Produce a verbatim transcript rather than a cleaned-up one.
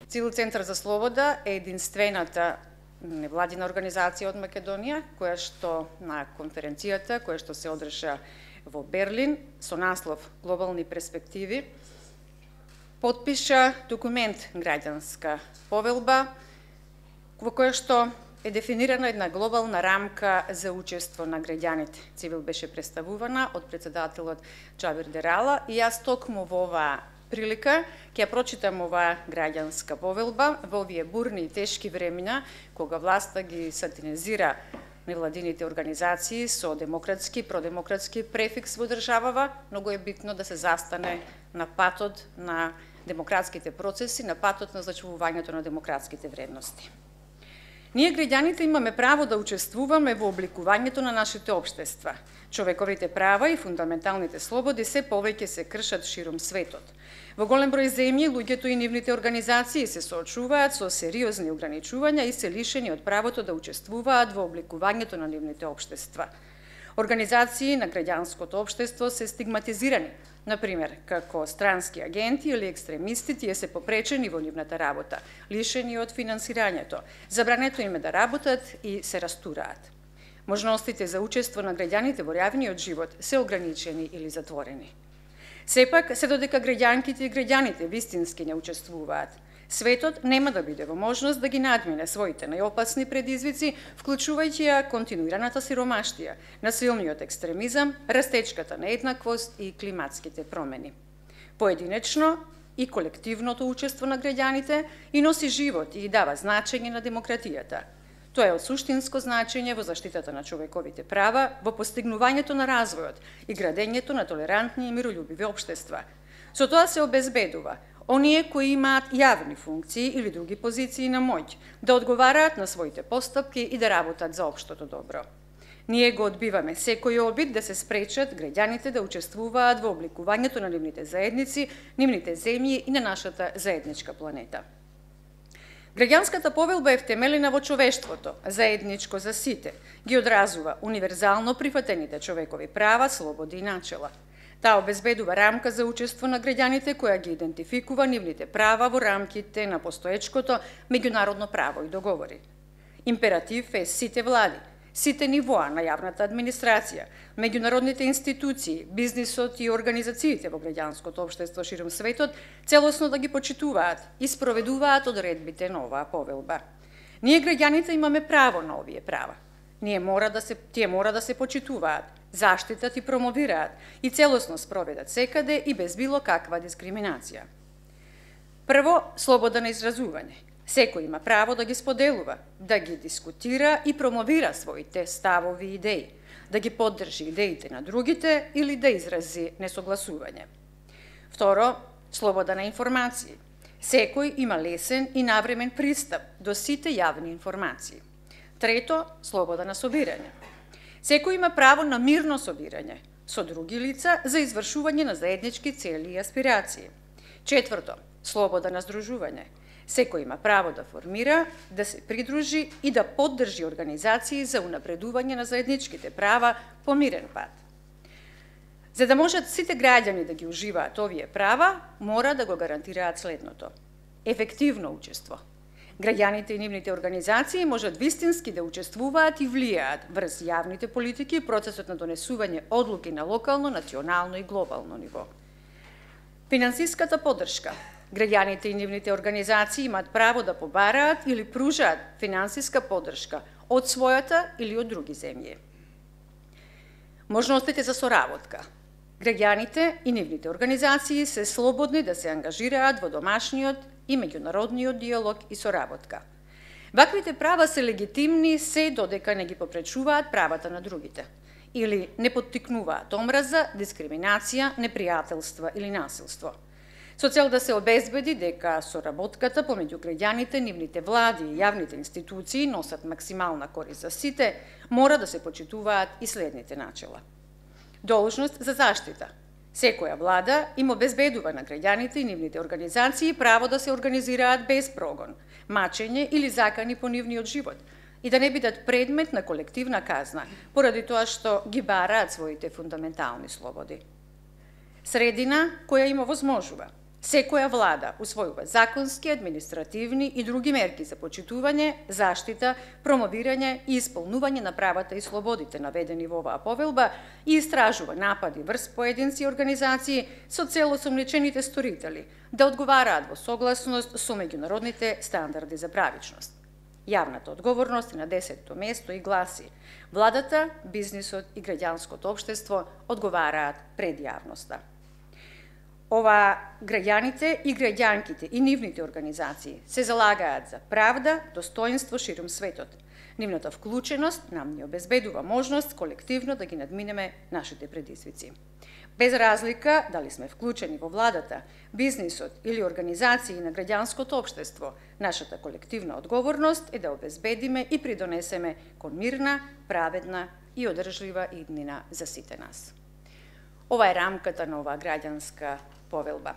Цивил Центар за слобода е единствената невладина организација од Македонија, која што на конференцијата, која што се одржа во Берлин, со наслов Глобални перспективи, потпиша документ граѓанска повелба, во која што е дефинирана една глобална рамка за учество на граѓаните. Цивил беше представувана од председателот Џабир Дерала и јас токму во оваа прилика ќе ја прочитам оваа граѓанска повелба во овие бурни и тешки времена, кога власта ги сатанизира невладините организации со демократски, продемократски префикс во државава, многу е битно да се застане на патот на демократските процеси, на патот на зачувувањето на демократските вредности. Ние граѓаните имаме право да учествуваме во обликувањето на нашите општества. Човековите права и фундаменталните слободи се повеќе се кршат широм светот. Во голем број земји, луѓето и нивните организации се соочуваат со сериозни ограничувања и се лишени од правото да учествуваат во обликувањето на нивните општества. Организации на граѓанското општество се стигматизирани, например, како странски агенти или екстремисти, тие се попречени во нивната работа, лишени од финансирањето, забрането им е да работат и се растураат. Можностите за учество на граѓаните во реалниот живот се ограничени или затворени. Сепак, се додека граѓанките и граѓаните вистински не учествуваат, светот нема да биде во можност да ги надмине своите најопасни предизвици, вклучувајќи ја континуираната сиромаштија, насилниот екстремизам, растечката нееднаквост и климатските промени. Поединечно и колективното учество на граѓаните и носи живот и дава значење на демократијата. Тоа е од суштинско значење во заштитата на човековите права, во постигнувањето на развојот и градењето на толерантни и мирољубиви општества. Со тоа се обезбедува оние кои имаат јавни функции или други позиции на моќ, да одговараат на своите постапки и да работат за општото добро. Ние го одбиваме секој обид да се спречат граѓаните да учествуваат во обликувањето на нивните заедници, нивните земји и на нашата заедничка планета. Граѓанската повелба е втемелена во човештвото, заедничко за сите, ги одразува универзално прифатените човекови права, слободи и начела. Таа обезбедува рамка за учество на граѓаните која ги идентификува нивните права во рамките на постоечкото меѓународно право и договори. Императив е сите влади, сите нивоа на јавната администрација, меѓународните институции, бизнисот и организациите во граѓанското општество широм светот целосно да ги почитуваат и спроведуваат одредбите на оваа повелба. Ние граѓаните имаме право на овие права. Ние мора да се тие мора да се почитуваат, заштитат и промовираат и целосно спроведат секаде и без било каква дискриминација. Прво, слобода на изразување. Секој има право да ги споделува, да ги дискутира и промовира своите ставови и идеи, да ги поддржи идеите на другите или да изрази несогласување. Второ, слобода на информации. Секој има лесен и навремен пристап до сите јавни информации. Трето, слобода на собирање. Секој има право на мирно собирање со други лица за извршување на заеднички цели и аспирации. Четврто, слобода на здружување. Секој има право да формира, да се придружи и да поддржи организации за унапредување на заедничките права по мирен пат. За да можат сите граѓани да ги уживаат овие права, мора да го гарантираат следното: ефективно учество. Граѓаните и нивните организации можат вистински да учествуваат и влијаат врз јавните политики и процесот на донесување одлуки на локално, национално и глобално ниво. Финансиската поддршка. Граѓаните и нивните организации имаат право да побараат или пружаат финансиска поддршка од својата или од други земји. Можностите за соработка. Граѓаните и нивните организации се слободни да се ангажираат во домашниот и меѓународниот диалог и соработка. Ваквите права се легитимни се додека не ги попречуваат правата на другите или не поттикнуваат омраза, дискриминација, непријателства или насилство. Со цел да се обезбеди дека соработката помеѓу граѓаните, нивните влади и јавните институции носат максимална корист за сите, мора да се почитуваат и следните начела. Должност за заштита. Секоја влада им обезбедува на граѓаните и нивните организации право да се организираат без прогон, мачење или закани по нивниот живот и да не бидат предмет на колективна казна, поради тоа што ги бараат своите фундаментални слободи. Средина која им овозможува Секоја влада усвојува законски, административни и други мерки за почитување, заштита, промовирање и исполнување на правата и слободите наведени во оваа повелба и истражува напади врз поединци и организации со цел осомничените сторители да одговараат во согласност со меѓународните стандарди за правичност. Јавната одговорност е на десетто место и гласи: владата, бизнисот и граѓанското општество одговараат пред јавноста. Ова граѓаните и граѓанките и нивните организации се залагаат за правда, достоинство ширум светот. Нивната вклученост нам ни обезбедува можност колективно да ги надминеме нашите предизвици. Без разлика дали сме вклучени во владата, бизнисот или организации на граѓанското општество, нашата колективна одговорност е да обезбедиме и придонесеме кон мирна, праведна и одржлива иднина за сите нас. Ова е рамката на оваа граѓанска повелба.